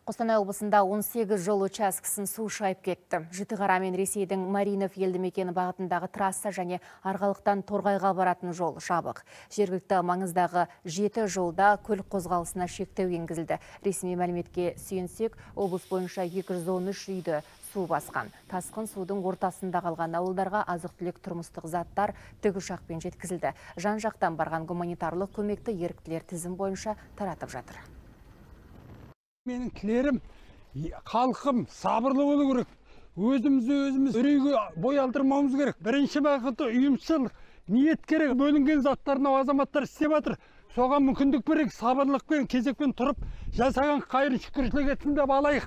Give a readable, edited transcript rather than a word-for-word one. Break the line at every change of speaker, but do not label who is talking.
Қостанай облысында 18 жол учаскесін су шайып кетті. Жітіқара мен Ресейдің Маринов елді мекені бағытындағы трасса және Арғалықтан Торғайға баратын жол жабық. Жергілікті маңыздағы 7 жолда көлік қозғалысына шектеу енгізілді. Ресми мәліметке сүйенсек, облыс бойынша 213 үйді су басқан. Тасқын судың ортасында қалған ауылдарға азық-түлік тұрмыстық заттар тікұшақпен жеткізілді. Жан-жақтан барған гуманитарлық көмекті еріктілер тізім бойынша таратып жатыр.
Менің тілерім, халқым сабырлы болу керек. Өзіміз үрейге бой алдырмауымыз керек. Бірінші бағыты ұйымшыл ниет керек. Бөлінген заттарына азаматтар істеп жатыр. Соған мүмкіндік берейік, сабырлықпен, кезекпен тұрып, жасаған қайырын шүкіршілік етсін деп алайық.